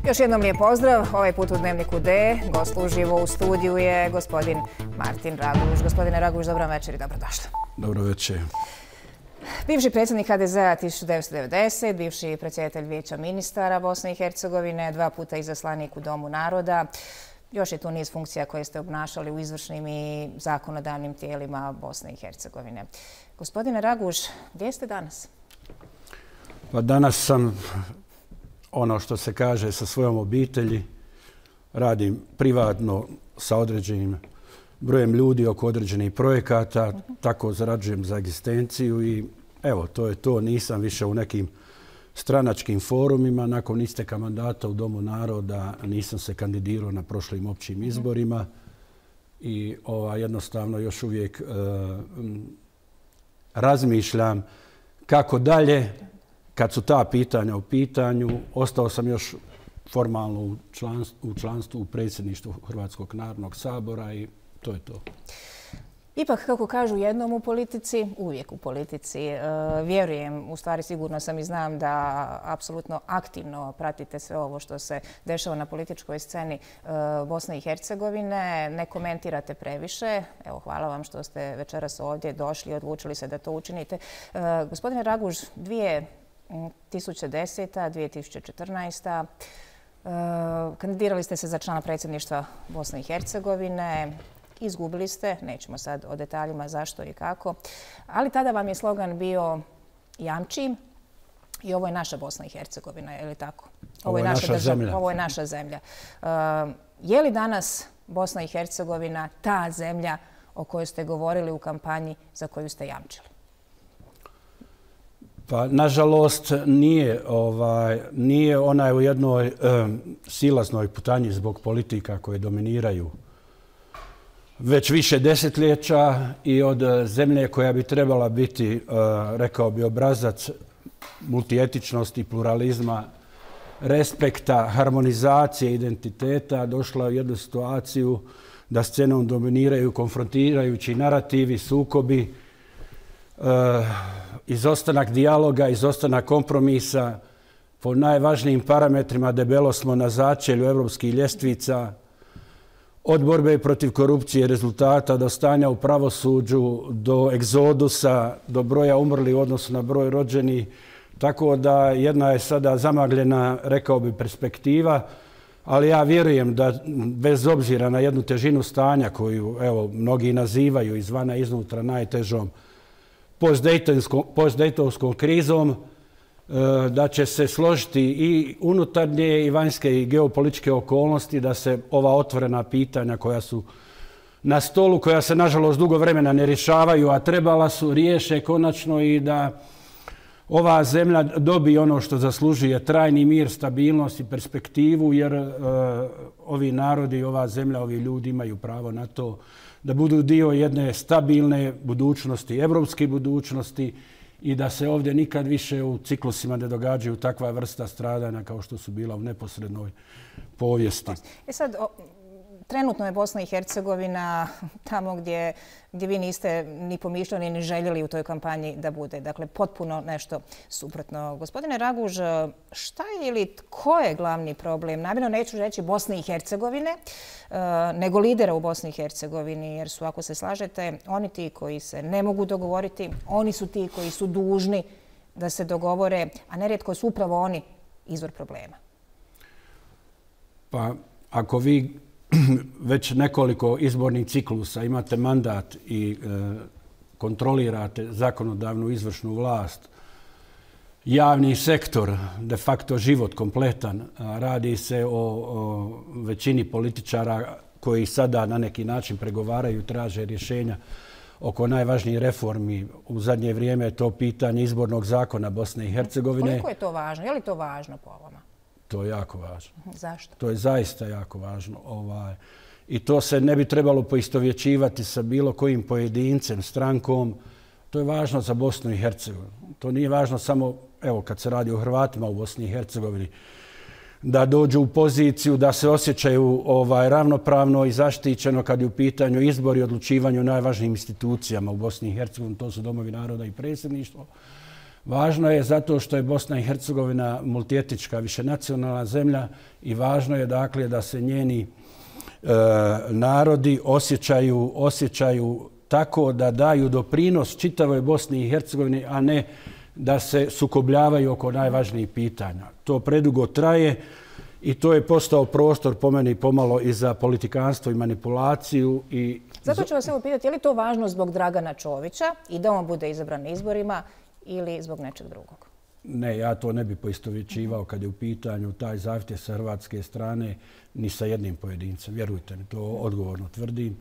Još jednom lijep pozdrav. Ovaj put u Dnevniku D. Gost uživo u studiju je gospodin Martin Raguž. Gospodine Raguž, dobro večer i dobrodošli. Dobro večer. Bivši predsjednik HDZ-a 1990, bivši predsjedatelj Vijeća ministara Bosne i Hercegovine, 2 puta izaslanik u Domu naroda. Još je tu niz funkcija koje ste obnašali u izvršnim i zakonodavnim tijelima Bosne i Hercegovine. Gospodine Raguž, gdje ste danas? Pa danas sam, ono što se kaže, sa svojom obitelji. Radim privatno sa određenim brojem ljudi oko određenih projekata, tako zarađujem za egzistenciju i evo, to je to. Nisam više u nekim stranačkim forumima. Nakon isteka mandata u Domu naroda nisam se kandidirao na prošlim općim izborima i jednostavno još uvijek razmišljam kako dalje. Kad su ta pitanja u pitanju, ostao sam još formalno u članstvu u predsjedništvu Hrvatskog narodnog sabora i to je to. Ipak, kako kažu jednom u politici, uvijek u politici. Vjerujem, u stvari sigurno sam i znam da apsolutno aktivno pratite sve ovo što se dešava na političkoj sceni Bosne i Hercegovine. Ne komentirate previše. Evo, hvala vam što ste večeras ovdje došli i odlučili se da to učinite. Gospodine Raguž, 2010. 2014. Kandidirali ste se za člana predsjedništva Bosne i Hercegovine. Izgubili ste, nećemo sad o detaljima zašto i kako, ali tada vam je slogan bio jamči i ovo je naša Bosna i Hercegovina, je li tako? Ovo je naša zemlja. Ovo je naša zemlja. Je li danas Bosna i Hercegovina ta zemlja o kojoj ste govorili u kampanji za koju ste jamčili? Pa, nažalost, nije ona u jednoj silaznoj putanji zbog politika koje dominiraju već više desetljeća i od zemlje koja bi trebala biti, rekao bi, obrazac multietičnosti, pluralizma, respekta, harmonizacije, identiteta, došla u jednu situaciju da scenom dominiraju konfrontirajući narativi, sukobi, izostanak dijaloga, izostanak kompromisa. Po najvažnijim parametrima debelo smo na začelju evropskih ljestvica, od borbe protiv korupcije, rezultata, do stanja u pravosuđu, do egzodusa, do broja umrlih u odnosu na broj rođenih. Tako da jedna je sada zamagljena, rekao bi, perspektiva, ali ja vjerujem da bez obzira na jednu težinu stanja koju mnogi nazivaju izvana iznutra najtežom postdejtonskom krizom, da će se složiti i unutarnje i vanjske i geopolitičke okolnosti, da se ova otvorena pitanja koja su na stolu, koja se nažalost dugo vremena ne rješavaju, a trebala su, riješe konačno i da ova zemlja dobije ono što zaslužuje, trajni mir, stabilnost i perspektivu, jer ovi narodi, ova zemlja, ovi ljudi imaju pravo na to da budu dio jedne stabilne budućnosti, evropske budućnosti, i da se ovdje nikad više u ciklusima ne događaju takva vrsta stradanja kao što su bila u neposrednoj povijesti. Sad, trenutno je Bosna i Hercegovina tamo gdje vi niste ni pomišljali ni željeli u toj kampanji da bude. Dakle, potpuno nešto suprotno. Gospodine Raguž, šta je ili ko je glavni problem? Namjerno neću reći Bosne i Hercegovine, nego lidera u Bosni i Hercegovini, jer su, ako se slažete, oni ti koji se ne mogu dogovoriti, oni su ti koji su dužni da se dogovore, a nerijetko su upravo oni izvor problema. Pa, ako vi već nekoliko izbornih ciklusa imate mandat i kontrolirate zakonodavnu izvršnu vlast, javni sektor, de facto život kompletan, radi se o većini političara koji sada na neki način pregovaraju, traže rješenja oko najvažnijih reformi. U zadnje vrijeme je to pitanje izbornog zakona Bosne i Hercegovine. Koliko je to važno? Je li to važno po ovome? To je jako važno. Zašto? To je zaista jako važno. I to se ne bi trebalo poistovjećivati sa bilo kojim pojedincem, strankom. To je važno za Bosnu i Hercegovinu. To nije važno samo, evo, kad se radi o Hrvatima u Bosni i Hercegovini, da dođu u poziciju da se osjećaju ravnopravno i zaštićeno kad je u pitanju izbor i odlučivanje o najvažnijim institucijama u Bosni i Hercegovini. To su domovi naroda i predsjedništvo. Važno je zato što je Bosna i Hercegovina multietnička, višenacionalna zemlja i važno je dakle da se njeni narodi osjećaju tako da daju doprinos čitavoj Bosni i Hercegovini, a ne da se sukobljavaju oko najvažnijih pitanja. To predugo traje i to je postao prostor po meni pomalo i za politikanstvo i manipulaciju. Zato ću vas evo pitati, je li to važno zbog Dragana Čovića i da on bude izabran na izborima ili zbog nečeg drugog? Ne, ja to ne bi poistovjećivao kad je u pitanju taj zahtjev sa hrvatske strane ni sa jednim pojedincem. Vjerujte mi, to odgovorno tvrdim.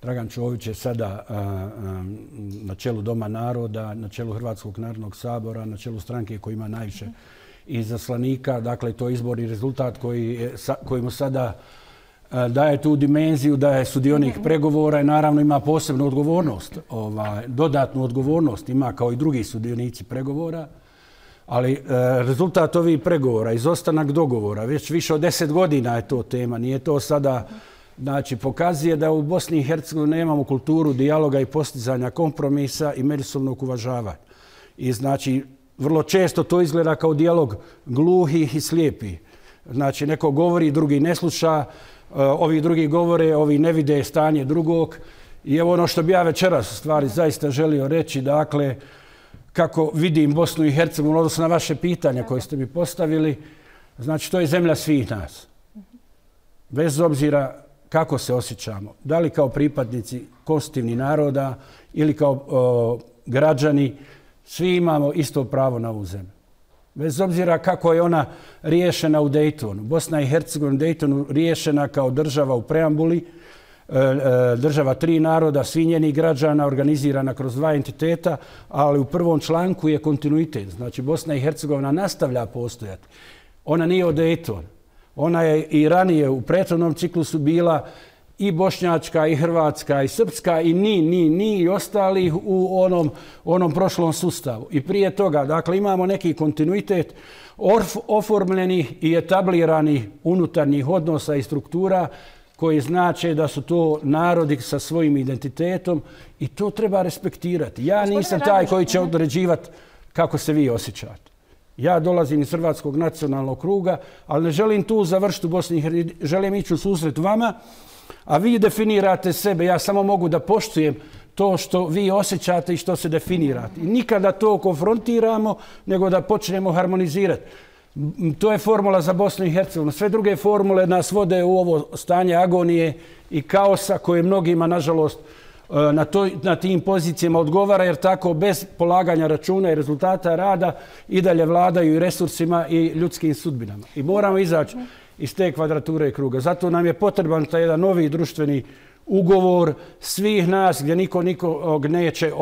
Dragan Čović je sada na čelu Doma naroda, na čelu Hrvatskog narodnog sabora, na čelu stranke koji ima najviše izaslanika. Dakle, to je izborni rezultat koji mu sada daje tu dimenziju da je sudionik pregovora i naravno ima posebnu odgovornost, dodatnu odgovornost ima kao i drugi sudionici pregovora. Ali rezultat ovih pregovora, izostanak dogovora, već više od 10 godina je to tema, nije to sada. Znači, pokazuje da u Bosni i Hercegovini nemamo kulturu dijaloga i postizanja kompromisa i međusobnog uvažavanja. I znači, vrlo često to izgleda kao dijalog gluhih i slijepih. Znači, neko govori, drugi ne sluša, ovi drugi govore, ovi ne vide stanje drugog. I evo ono što bi ja večeras stvari zaista želio reći, dakle, kako vidim Bosnu i Hercegovinu, odnosno na vaše pitanje koje ste mi postavili, znači, to je zemlja svih nas. Bez obzira kako se osjećamo, da li kao pripadnici konstitutivnih naroda ili kao građani, svi imamo isto pravo na ovu zemlju. Bez obzira kako je ona riješena u Daytonu. Bosna i Hercegovina u Daytonu riješena kao država u preambuli, država 3 naroda, svi njeni građana, organizirana kroz 2 entiteta, ali u prvom članku je kontinuitet. Znači, Bosna i Hercegovina nastavlja postojati. Ona nije od Daytona. Ona je i ranije u prethodnom ciklusu bila i bošnjačka, i hrvatska, i srpska, i ni ostalih u onom prošlom sustavu. I prije toga, dakle, imamo neki kontinuitet oformljenih i etabliranih unutarnjih odnosa i struktura koji znače da su to narodi sa svojim identitetom i to treba respektirati. Ja nisam taj koji će određivati kako se vi osjećate. Ja dolazim iz Hrvatskog nacionalnog kruga, ali ne želim tu završiti u Bosni i Hercegovini. Želim ići u susret vama, a vi definirate sebe. Ja samo mogu da poštujem to što vi osjećate i što se definirate. I nikada to konfrontiramo, nego da počnemo harmonizirati. To je formula za Bosnu i Hercegovinu. Sve druge formule nas vode u ovo stanje agonije i kaosa koje mnogima, nažalost, na tim pozicijama odgovara, jer tako bez polaganja računa i rezultata rada i dalje vladaju i resursima i ljudskim sudbinama. I moramo izaći iz te kvadrature i kruga. Zato nam je potreban taj jedan novi društveni ugovor svih nas gdje nikog neće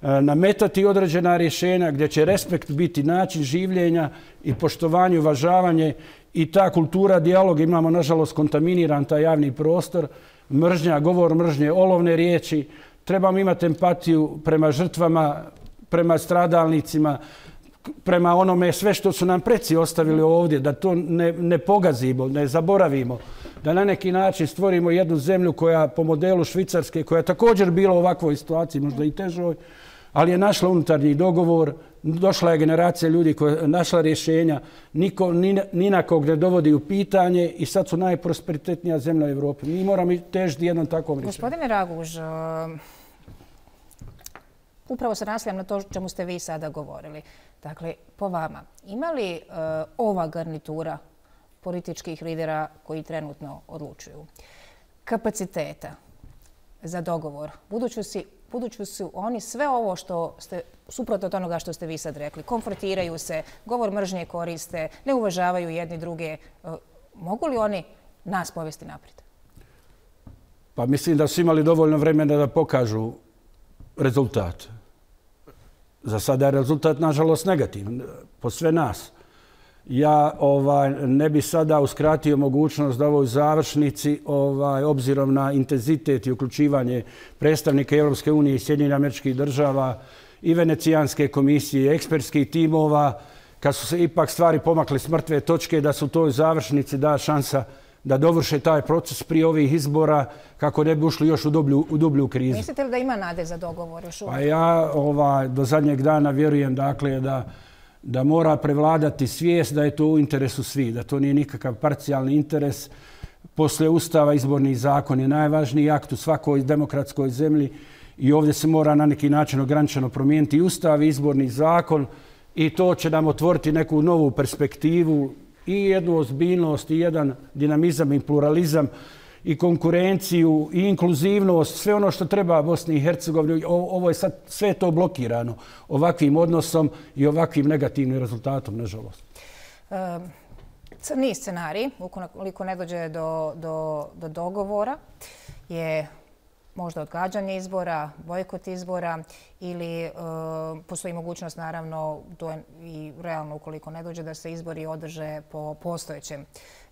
nametati određena rješenja, gdje će respekt biti način življenja i poštovanje, uvažavanje i ta kultura dijaloga. Imamo, nažalost, kontaminiran taj javni prostor, mržnja, govor mržnje, olovne riječi. Trebamo imati empatiju prema žrtvama, prema stradalnicima, prema onome sve što su nam preci ostavili ovdje, da to ne pogazimo, ne zaboravimo, da na neki način stvorimo jednu zemlju koja po modelu Švicarske, koja je također bila u ovakvoj situaciji, možda i težoj, ali je našla unutarnji dogovor, došla je generacija ljudi koja je našla rješenja, niko ni na kog ne dovodi u pitanje i sad su najprosperitetnija zemlja u Evropi. Mi moramo težiti jednom takvom rješenju. Gospodine Raguž, upravo se nastavljam na to čemu ste vi sada govorili. Dakle, po vama, ima li ova garnitura političkih lidera koji trenutno odlučuju kapaciteta za dogovor, budući su oni sve ovo što ste, suprotno od onoga što ste vi sad rekli, konfrontiraju se, govor mržnje koriste, ne uvažavaju jedni druge, mogu li oni nas povesti naprijed? Pa mislim da su imali dovoljno vremena da pokažu rezultat. Za sada je rezultat, nažalost, negativan po sve nas. Ja ne bi sada uskratio mogućnost da ovoj završnici, obzirom na intenzitet i uključivanje predstavnika Europske unije i Sjedinjenih Američkih Država i Venecijanske komisije, ekspertskih timova, kad su se ipak stvari pomakle s mrtve točke, da su toj završnici da šansa da dovrše taj proces prije ovih izbora kako ne bi ušli još u dublju krizu. Mislite li da ima nade za dogovor još uvijek? Pa ja do zadnjeg dana vjerujem dakle, da mora prevladati svijest da je to u interesu svih, da to nije nikakav parcijalni interes. Poslije Ustava izborni zakon je najvažniji akt u svakoj demokratskoj zemlji i ovdje se mora na neki način ograničeno promijeniti Ustav i izborni zakon i to će nam otvoriti neku novu perspektivu i jednu ozbiljnost i jedan dinamizam i pluralizam i konkurenciju i inkluzivnost, sve ono što treba Bosni i Hercegovini. Ovo je sad sve to blokirano ovakvim odnosom i ovakvim negativnim rezultatom, nažalost. Crni scenarij, ukoliko ne dođe do dogovora, je možda odgađanje izbora, bojkot izbora ili postoji mogućnost, naravno, to je i realno ukoliko ne dođe, da se izbori održe po postojećem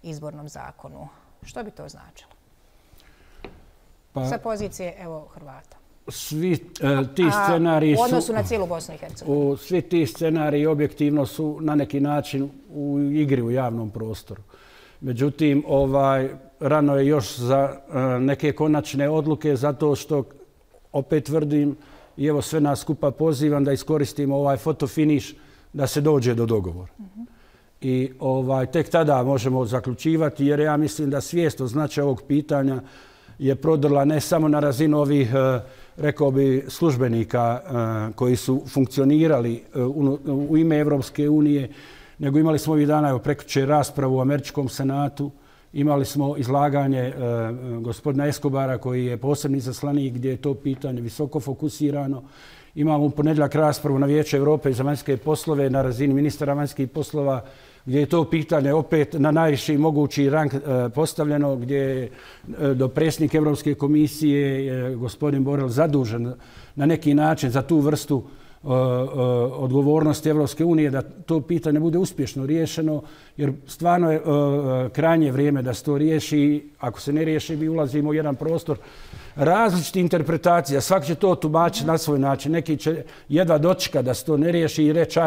izbornom zakonu. Što bi to značilo? Sa pozicije, evo, Hrvata. Svi ti scenariji u odnosu na cijelu Bosnu i Hercegovinu. Svi ti scenariji objektivno su na neki način u igri u javnom prostoru. Međutim, rano je još za neke konačne odluke zato što, opet tvrdim, i evo sve nas skupa pozivam da iskoristimo ovaj fotofiniš da se dođe do dogovora. I tek tada možemo zaključivati, jer ja mislim da svijest o značaju ovog pitanja je prodrla ne samo na razinu ovih, rekao bi, službenika koji su funkcionirali u ime Evropske unije, nego imali smo ovih dana prekjučer raspravu u Američkom senatu, imali smo izlaganje gospodina Escobara koji je posebni izaslanik gdje je to pitanje visoko fokusirano. Imamo u ponedjeljak raspravu na Vijeću Europe za vanjske poslove na razini ministara vanjskih poslova gdje je to pitanje opet na najviši mogući rang postavljeno, gdje je dopredsjednik Evropske komisije gospodin Borrell zadužen na neki način za tu vrstu odgovornosti Evropske unije da to pitanje bude uspješno riješeno, jer stvarno je krajnje vrijeme da se to riješi. Ako se ne riješi, mi ulazimo u jedan prostor različitih interpretacija. Svaki će to tumačiti na svoj način. Neki će jedva dočekati da se to ne riješi i reći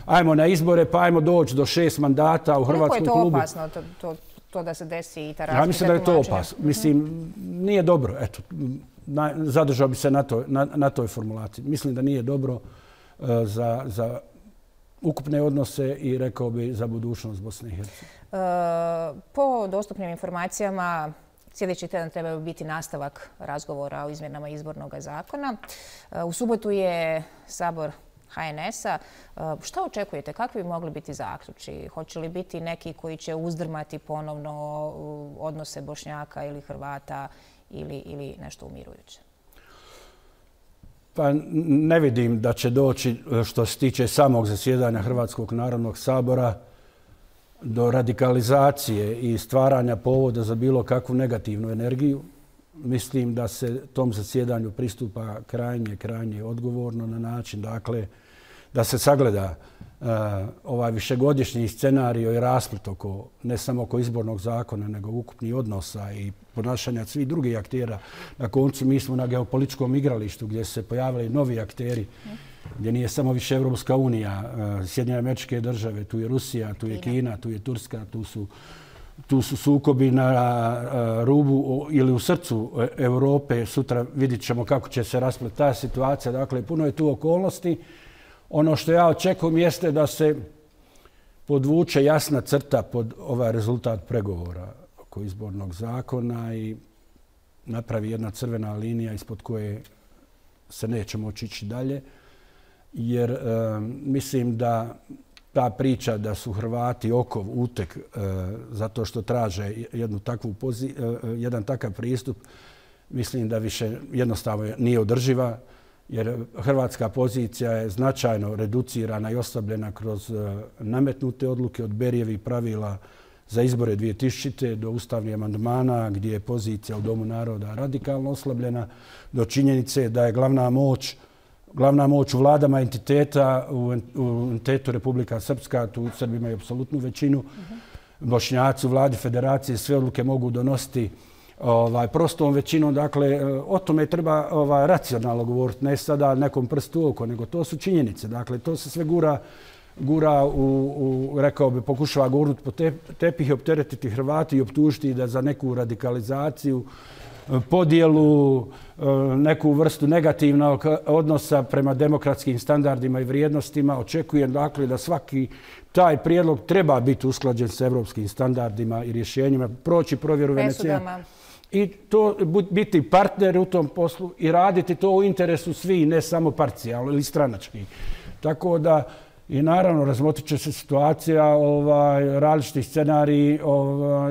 ajmo na izbore, pa ajmo doći do 6 mandata u hrvatskom klubu. Koliko je to opasno, to da se desi i ta različita tumačenja? Ja mislim da je to opasno. Mislim, nije dobro. Eto, zadržao bi se na toj formulaciji. Mislim da nije dobro za ukupne odnose i, rekao bi, za budućnost Bosne i Hercegovine. Po dostupnim informacijama, sljedeći tjedan treba biti nastavak razgovora o izmjenama izbornog zakona. U subotu je sabor HNS-a. Šta očekujete? Kakvi bi mogli biti zaključci? Hoće li biti neki koji će uzdrmati ponovno odnose Bošnjaka ili Hrvata ili nešto umirujuće? Pa ne vidim da će doći, što se tiče samog zasjedanja Hrvatskog narodnog sabora, do radikalizacije i stvaranja povoda za bilo kakvu negativnu energiju. Mislim da se tom zasjedanju pristupa krajnje odgovorno na način, dakle, da se sagleda ovaj višegodišnji scenario i rasplet ne samo oko izbornog zakona, nego ukupnih odnosa i ponašanja svih drugih aktera. Na koncu mi smo na geopolitičkom igralištu gdje se pojavili novi akteri, gdje nije samo više Evropska unija, Sjedinjene Američke Države, tu je Rusija, tu je Kina, tu je Turska, tu su sukobi na rubu ili u srcu Europe. Sutra vidit ćemo kako će se rasplet ta situacija. Dakle, puno je tu okolnosti. Ono što ja očekujem jeste da se podvuče jasna crta pod ovaj rezultat pregovora oko izbornog zakona i napravi jedna crvena linija ispod koje se neće moći ići dalje. Jer mislim da ta priča da su Hrvati okov, uteg, zato što traže jedan takav pristup, mislim da više jednostavno nije održiva, jer hrvatska pozicija je značajno reducirana i oslabljena kroz nametnute odluke od Berijevih pravila za izbore 2000. do ustavnih amandmana, gdje je pozicija u Domu naroda radikalno oslabljena, do činjenice da je glavna moć u vladama entiteta, u entitetu Republika Srpska, tu Srbi imaju apsolutnu većinu, Bošnjaci u vladi federacije sve odluke mogu donositi prostom većinom. Dakle, o tome treba racionalno govoriti, ne sada nekom prstu oko, nego to su činjenice. Dakle, to se sve gura gura rekao bi, pokušava gurnuti po tepih i opteretiti Hrvati i optužiti da za neku radikalizaciju, podjelu, neku vrstu negativnog odnosa prema demokratskim standardima i vrijednostima. Očekujem dakle da svaki taj prijedlog treba biti usklađen sa evropskim standardima i rješenjima, proći provjeru Venecija. I to biti partner u tom poslu i raditi to u interesu svih, ne samo parcijalno ili stranački. Tako da i naravno razmotrit će se situacija različitih scenariji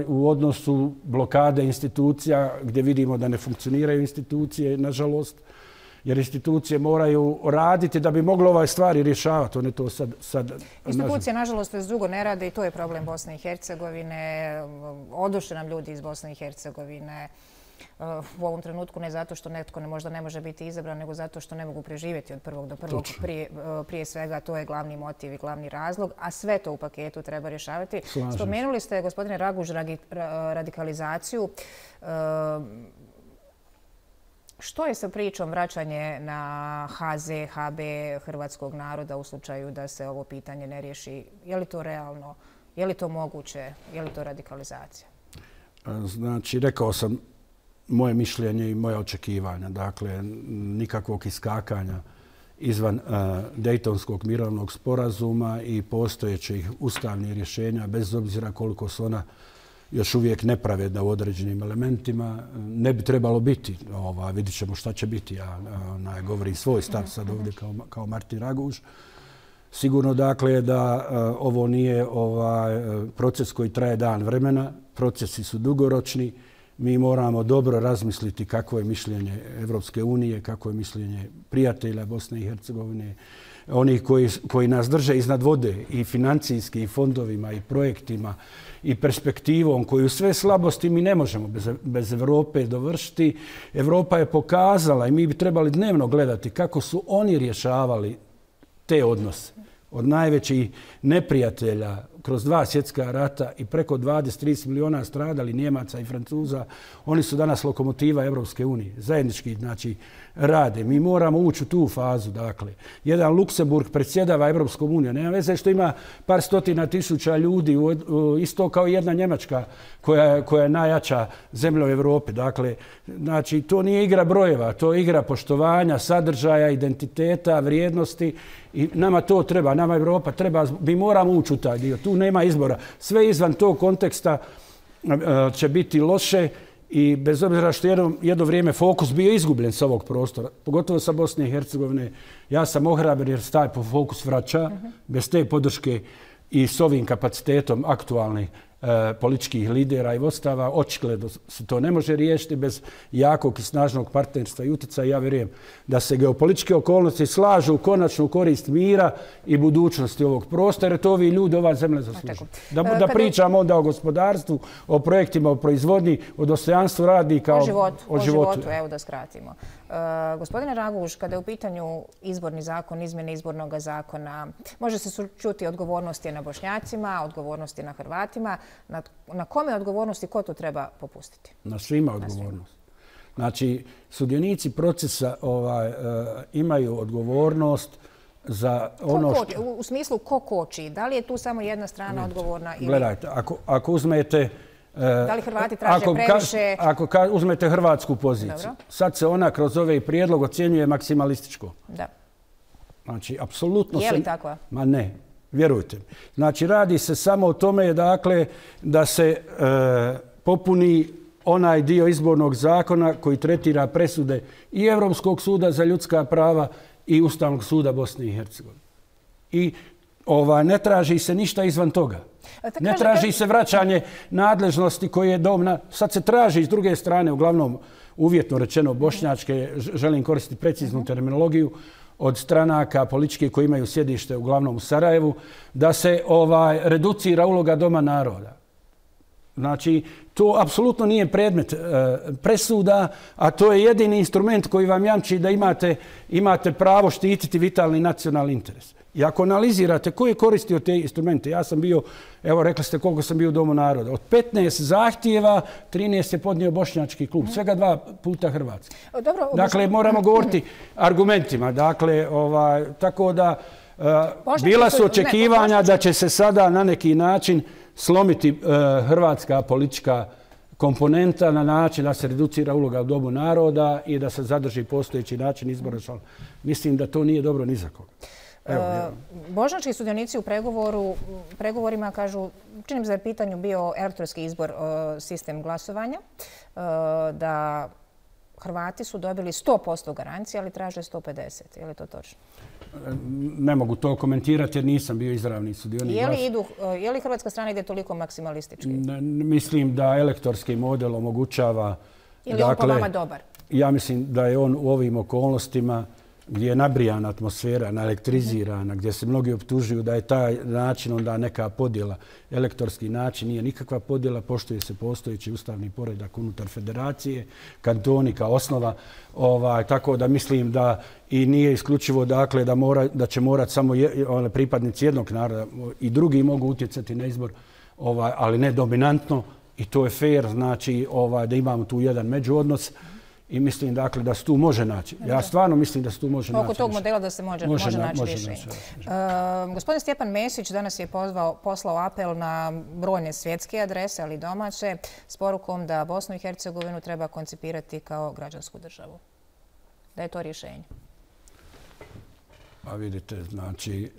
u odnosu blokade institucija gdje vidimo da ne funkcioniraju institucije, nažalost, jer institucije moraju raditi da bi moglo ove stvari rješavati. One to sad institucije, nažalost, već dugo ne rade i to je problem Bosne i Hercegovine. Odošli nam ljudi iz Bosne i Hercegovine u ovom trenutku ne zato što netko možda ne može biti izabran, nego zato što ne mogu preživjeti od prvog do prvog. Prije svega to je glavni motiv i glavni razlog, a sve to u paketu treba rješavati. Spomenuli ste, gospodine Raguž, radikalizaciju. Što je sa pričom vraćanje na HZ, HB hrvatskog naroda u slučaju da se ovo pitanje ne riješi? Je li to realno? Je li to moguće? Je li to radikalizacija? Znači, rekao sam moje mišljenje i moje očekivanja. Dakle, nikakvog iskakanja izvan Dejtonskog mirovnog sporazuma i postojećih ustavnih rješenja, bez obzira koliko su ona još uvijek nepravedna u određenim elementima, ne bi trebalo biti. Vidit ćemo šta će biti. Ja govorim svoj stav sad ovdje kao Martin Raguž. Sigurno dakle da ovo nije proces koji traje dan vremena. Procesi su dugoročni. Mi moramo dobro razmisliti kako je mišljenje Evropske unije, kako je mišljenje prijatelja Bosne i Hercegovine, onih koji nas drže iznad vode i financijski i fondovima i projektima i perspektivom koju sve slabosti mi ne možemo bez Evrope dovršiti. Evropa je pokazala i mi bi trebali dnevno gledati kako su oni rješavali te odnose. Od najvećih neprijatelja kroz 2 svjetska rata i preko 20-30 miliona stradali Njemaca i Francuza, oni su danas lokomotiva Evropske unije. Zajednički, znači, rade. Mi moramo ući u tu fazu, dakle. Jedan Luksemburg predsjedava Evropskom unijom. Nema veze što ima par stotina tisuća ljudi, isto kao jedna Njemačka koja je najjača zemlja u Evropi. Dakle, znači, to nije igra brojeva, to je igra poštovanja, sadržaja, identiteta, vrijednosti i nama to treba, nama Evropa treba, mi moramo ući u taj dio. Tu nema izbora. Sve izvan tog konteksta će biti loše i bez obzira što jedno vrijeme fokus bio izgubljen sa ovog prostora, pogotovo sa Bosne i Hercegovine, ja sam ohrabren jer se taj fokus vraća bez te podrške i s ovim kapacitetom aktualnih političkih lidera i vodstava. Očigledno se to ne može riješiti bez jakog i snažnog partnerstva i utjecaja. Ja vjerujem da se geopolitičke okolnosti slažu u konačnu korist mira i budućnosti ovog prostora, jer to ovi ljudi, ova zemlja zaslužuju. Da pričamo onda o gospodarstvu, o projektima, o proizvodnji, o dostojanstvu radnika, o životu. Evo da skratimo. Gospodine Raguž, kada je u pitanju izborni zakon, izmjene izbornog zakona, može se čuti odgovornosti na Bošnjacima, odgovornosti na Hrvatima. Na kome odgovornosti, ko to treba popustiti? Na svima odgovornost. Znači, sudionici procesa imaju odgovornost za ono što... U smislu ko koči? Da li je tu samo jedna strana odgovorna? Gledajte, ako uzmete... Da li Hrvati traže previše? Ako uzmete hrvatsku poziciju, sad se ona kroz ovaj prijedlog ocjenjuje maksimalističko. Da. Znači, apsolutno... Je li takva? Ma ne. Vjerujte mi. Znači, radi se samo o tome dakle, da se popuni onaj dio izbornog zakona koji tretira presude i Europskog suda za ljudska prava i Ustavnog suda Bosne i Hercegovine. I ne traži se ništa izvan toga. Ne traži se vraćanje nadležnosti koje je domna. Sad se traži s druge strane, uglavnom uvjetno rečeno bošnjačke, želim koristiti preciznu terminologiju, od stranaka političke koji imaju sjedište uglavnom u Sarajevu, da se reducira uloga Doma naroda. Znači, to apsolutno nije predmet presuda, a to je jedini instrument koji vam jamči da imate pravo štititi vitalni nacionalni interes. I ako analizirate ko je koristio te instrumente, ja sam bio, evo rekli ste koliko sam bio u Domu naroda, od 15 zahtjeva, 13 je podnio Bošnjački klub, svega 2 puta Hrvatski. Dakle, moramo govoriti argumentima. Dakle, tako da bila su očekivanja da će se sada na neki način slomiti hrvatska politička komponenta na način da se reducira uloga u domu naroda i da se zadrži postojeći način izbora. Mislim da to nije dobro ni za koga. Bošnjački sudionici u pregovorima kažu, čini mi se da je pitanju bio elektronski izbor, sistem glasovanja, da Hrvati su dobili 100% garancije, ali traže 150%. Je li to točno? Ne mogu to komentirati jer nisam bio izravni sudionik. Je li hrvatska strana ide toliko maksimalistički? Mislim da elektorski model omogućava... Je li on po vama dobar? Ja mislim da je on u ovim okolnostima gdje je nabrijana atmosfera, naelektrizirana, gdje se mnogi optužuju da je taj način onda neka podjela. Elektorski način nije nikakva podjela, poštuje se postojeći ustavni poredak unutar federacije, kantoni kao osnova. Tako da mislim da i nije isključivo dakle, da će morati samo pripadnici jednog naroda i drugi mogu utjecati na izbor, ali ne dominantno i to je fair, znači da imamo tu jedan međuodnos. I mislim dakle da se tu može naći. Ja stvarno mislim da se tu može naći. Oko tog modela da se može naći rješenje. Gospodin Stjepan Mesić danas je poslao apel na brojne svjetske adrese, ali i domaće, s porukom da Bosnu i Hercegovinu treba koncipirati kao građansku državu. Da je to rješenje? A vidite, znači,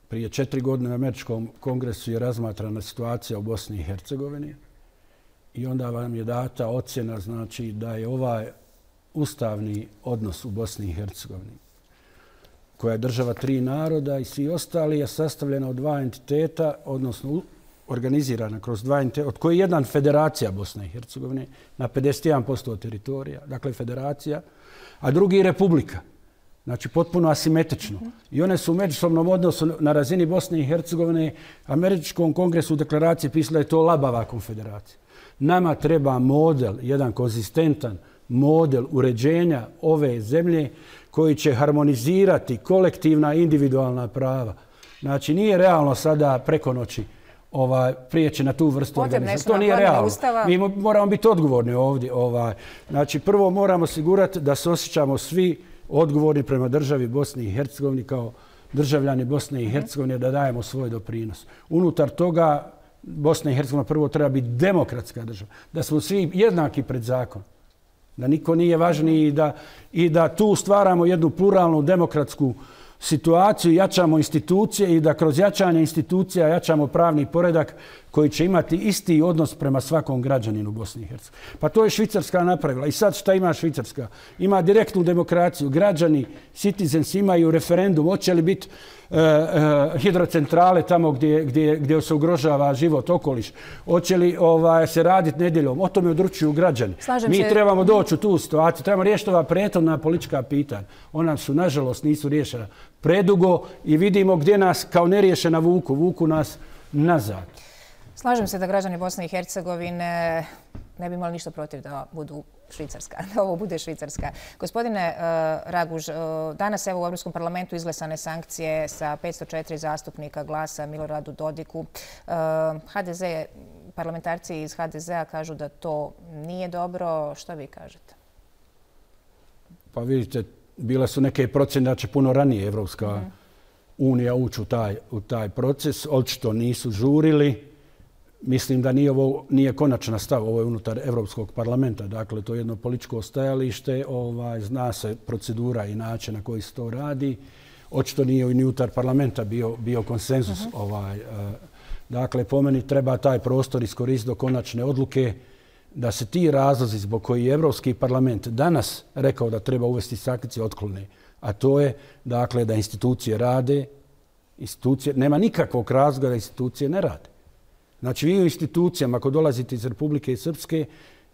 prije 4 godine na Američkom kongresu je razmatrana situacija u Bosni i Hercegovini. I onda vam je data ocjena znači, da je ovaj ustavni odnos u Bosni i Hercegovini, koja je država 3 naroda i svi ostali, je sastavljena od 2 entiteta, odnosno organizirana kroz 2 entiteta, od koje je jedan federacija Bosne i Hercegovine na 51% teritorija, dakle federacija, a drugi republika. Znači, potpuno asimetrično. I one su u međusobnom odnosu na razini Bosne i Hercegovine. Američkom kongresu u deklaraciji pisala je to labava konfederacija. Nama treba model, jedan konzistentan model uređenja ove zemlje koji će harmonizirati kolektivna i individualna prava. Znači, nije realno sada preko noći prijeći na tu vrstu organizacije. To nije realno. Mi moramo biti odgovorni ovdje. Znači, prvo moramo osigurati da se osjećamo svi odgovorni prema državi Bosne i Hercegovine kao državljani Bosne i Hercegovine da dajemo svoj doprinos. Unutar toga Bosna i Hercegovina prvo treba biti demokratska država. Da smo svi jednaki pred zakonom. Da niko nije važniji i da tu stvaramo jednu pluralnu demokratsku situaciju, jačamo institucije i da kroz jačanje institucija jačamo pravni poredak koji će imati isti odnos prema svakom građaninu Bosne i Hercegovine. Pa to je Švicarska napravila. I sad šta ima Švicarska? Ima direktnu demokraciju. Građani, citizens imaju referendum. Hoće li biti hidrocentrale tamo gdje se ugrožava život, okoliš? Hoće li se raditi nedjeljom? O tome odlučuju građani. Mi trebamo doći u tu situaciju. Trebamo riješiti ova prethodna politička pitanja. Ona su, nažalost, nisu riješena predugo i vidimo gdje nas kao neriješena vuku nas nazad. Slažem se da građani Bosne i Hercegovine ne bi imali ništa protiv da budu Švicarska, da ovo bude Švicarska. Gospodine Raguž, danas evo u Europskom parlamentu izglasane sankcije sa 504 zastupnika glasa Miloradu Dodiku. HDZ, parlamentarci iz HDZ-a kažu da to nije dobro. Što vi kažete? Pa vidite, bile su neke procjene da će puno ranije Evropska unija ući u taj proces. Očito nisu žurili. Mislim da nije konačna stav, ovo je unutar Evropskog parlamenta, dakle to je jedno političko stajalište, zna se procedura i način na koji se to radi. Očito nije ni unutar parlamenta bio konsenzus. Dakle, po meni treba taj prostor iskoristiti do konačne odluke da se ti razlozi zbog koji je Evropski parlament danas rekao da treba uvesti sankcije otklone, a to je dakle da institucije rade, nema nikakvog razloga da institucije ne rade. Znači, vi u institucijama, ako dolazite iz Republike Srpske,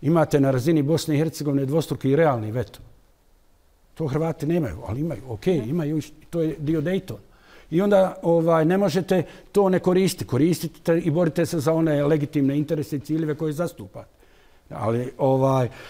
imate na razini Bosne i Hercegovine dvostruki i realni veto. To Hrvati nemaju, ali imaju. Ok, imaju, to je dio Daytona. I onda ne možete to ne koristiti. Koristite i borite se za one legitimne interese i ciljeve koje zastupate.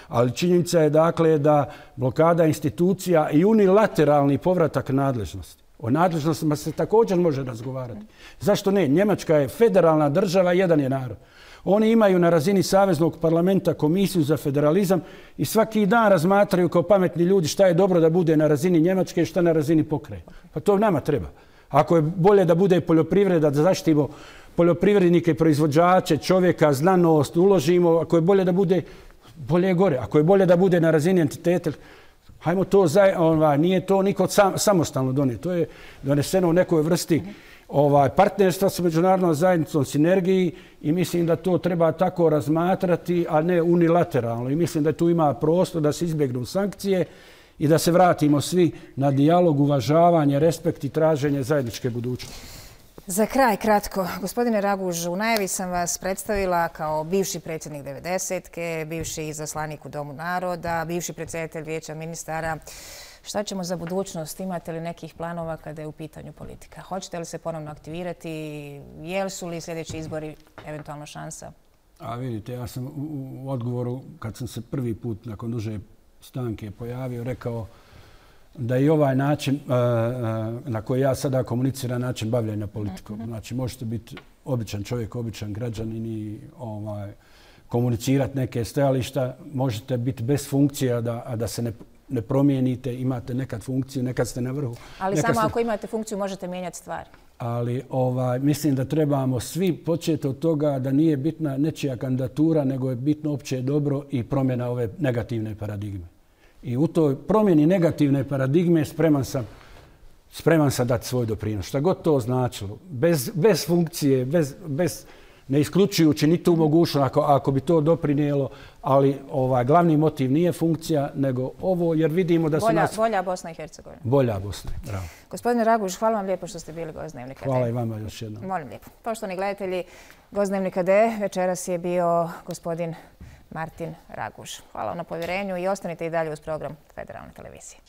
Ali činjenica je dakle da blokada institucija i unilateralni povratak nadležnosti. O nadležnostima se također može razgovarati. Zašto ne? Njemačka je federalna država, jedan je narod. Oni imaju na razini Saveznog parlamenta komisiju za federalizam i svaki dan razmatraju kao pametni ljudi šta je dobro da bude na razini Njemačke i šta na razini pokrajine. Pa to nama treba. Ako je bolje da bude poljoprivreda, da zaštitimo poljoprivrednike, proizvođače, čovjeka, znanost, uložimo, ako je bolje da bude, bolje je gore. Ako je bolje da bude na razini entiteta, hajmo to, nije to niko samostalno donio. To je doneseno u nekoj vrsti partnerstva sa međunarodnom zajednicom, sinergiji i mislim da to treba tako razmatrati, a ne unilateralno. I mislim da tu ima prostor da se izbjegnu sankcije i da se vratimo svi na dijalog, uvažavanje, respekt i traženje zajedničke budućnosti. Za kraj, kratko. Gospodine Raguž, u najavi sam vas predstavila kao bivši predsjednik 90-ke, bivši izaslanik u Domu naroda, bivši predsjedatelj Vijeća ministara. Šta ćemo za budućnost? Imate li nekih planova kada je u pitanju politika? Hoćete li se ponovno aktivirati? Jesu li sljedeći izbori eventualno šansa? A vidite, ja sam u odgovoru, kad sam se prvi put nakon duže stanke pojavio, rekao da i ovaj način na koji ja sada komuniciram, način bavljenja politikom. Znači, možete biti običan čovjek, običan građanin i komunicirati neke stajališta. Možete biti bez funkcija, a da se ne promijenite. Imate nekad funkciju, nekad ste na vrhu. Ali samo ako imate funkciju možete mijenjati stvari. Ali mislim da trebamo svi početi od toga da nije bitna nečija kandidatura, nego je bitno opće dobro i promjena ove negativne paradigme. I u toj promjeni negativne paradigme spreman sam dati svoj doprinos. Šta god to značilo. Bez funkcije, ne isključujući ni tu mogućnost ako bi to doprinijelo, ali glavni motiv nije funkcija, nego ovo, jer vidimo da su bolja Bosna i Hercegovina. Bolja Bosna, bravo. Gospodine Raguž, hvala vam lijepo što ste bili gost Dnevnika D. Hvala i vama još jednom. Molim lijepo. Poštovani gledatelji, gost Dnevnika D večeras je bio gospodin Martin Raguž. Hvala vam na povjerenju i ostanite i dalje uz program Federalne televizije.